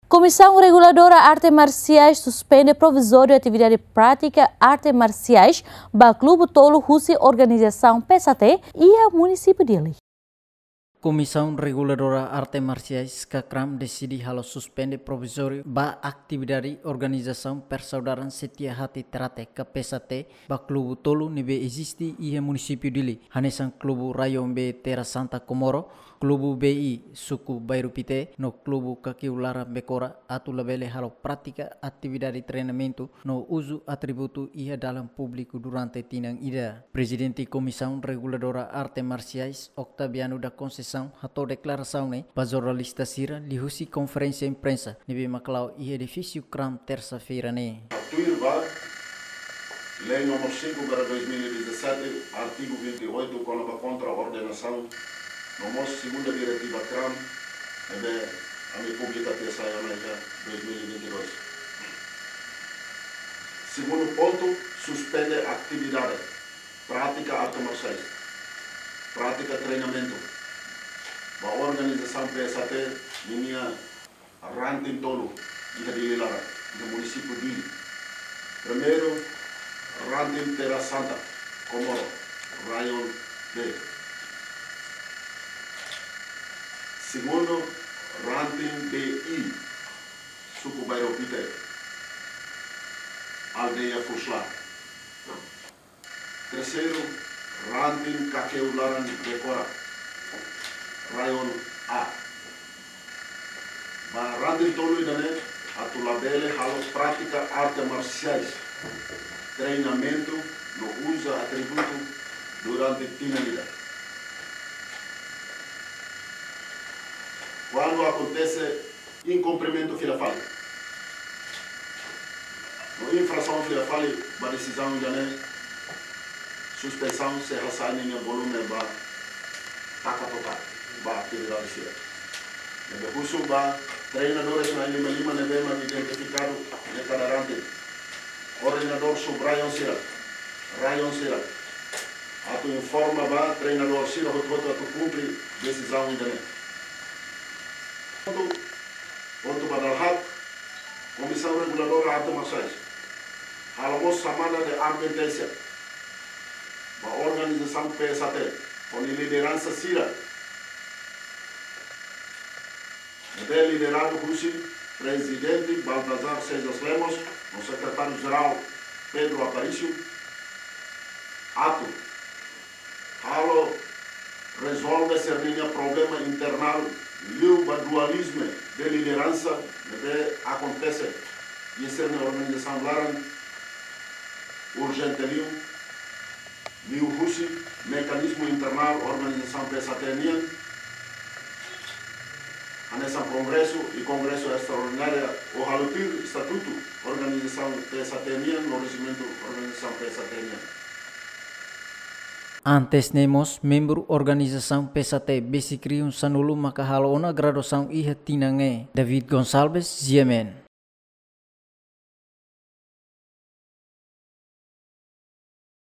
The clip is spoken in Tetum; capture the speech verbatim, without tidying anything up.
Komisaun Reguladora Arte Marsiais suspende provizóriu atividade prátika arte marsiais ba klube tolu husi organizasaun P S A T iha munisípiu Dili. Komisaun Reguladora Arte Marsiais, KAKRAM, deside halo suspende provizóriu ba atividade organizasaun Persaudaran Setia Hati Térate ka P S A T ba klube tolu ne'ebé eziste iha munisípiu Dili, hanesan klube Rayon B Terra Santa Comoro, klube B I suku Bairru Pité, no klube Kakeu Laran Bekora, atu labele halo prátika atividade treinamentu no uzu atributu iha dalan públiku durante tinan ida. Prezidente Komisaun Reguladora Arte Marsiais, Octaviano da Conceição, hato'o deklarasaun ne'e ba jornalista sira liuhusi konferénsia imprensa ne'ebé mak la'o iha edifísiu KRAM, tersa-feira ne'e. Tuir ba Lei número cinco barra dois mil e dezassete, artigu vinte e oito, kona-ba kontra-ordenasaun, no mós segunda diretiva KRAM, ne'ebé ami publika tiha sai ona iha dois mil e vinte e dois. Segundu pontu, suspende atividade prátika arte marsiais, prátika treinamentu ba organizasaun P S A T ninia ranting tolu iha Dili laran, iha munisípiu Dili. Primeiru, ranting Terra Santa Comoro, Rayon B. Segundu, ranting B I, suku Bairru Pité, aldeia Fusla. Terseiru, ranting Kakeu Laran Bekora, Rayon A. Ba ranting tolu ida-ne'e atu labele halo prátika arte marsiais, treinamentu no uza atributu durante tinan ida. Kuandu akontese inkumprimentu fila fali no infrasaun fila fali ba desizaun ida-ne'e, suspensaun sei hasai ninia volume ba taka total ba atividade sira. Ne'ebé husu ba treinadores na'in lima lima ne'ebé mak identifikadu iha kada ranting, koordenadór sub-rayon sira, rayon sira, atu informa ba treinadór sira hotu-hotu atu kumpre desizaun ida-ne'e. Pontu, pontu ba dala haat, Komisaun Reguladora Arte Marsiais halo mós xamada de adverténsia ba organizasaun P S A T, ho nia lideransa sira, ne'ebé lideradu husi Prezidente Baltazar Seixas Lemos no Sekretáriu Jerál Pedro Aparício, atu halo rezolve sira-ninia problema internál liu ba dualizmu de lideransa ne'ebé akontese iha sira-nia organizasaun laran urjente liu, liuhusi mekanizmu internál organizasaun P S A T nian, hanesan kongresu i kongresu estraordinária, ou halo tuir estatutu organizasaun P S A T nian no rejimentu organizasaun P S A T nian. Antes ne'e mós, membru organizasaun P S A T besik rihun sanulu maka halo ona graduasaun iha tinan ne'e. David Gonçalves, G M N.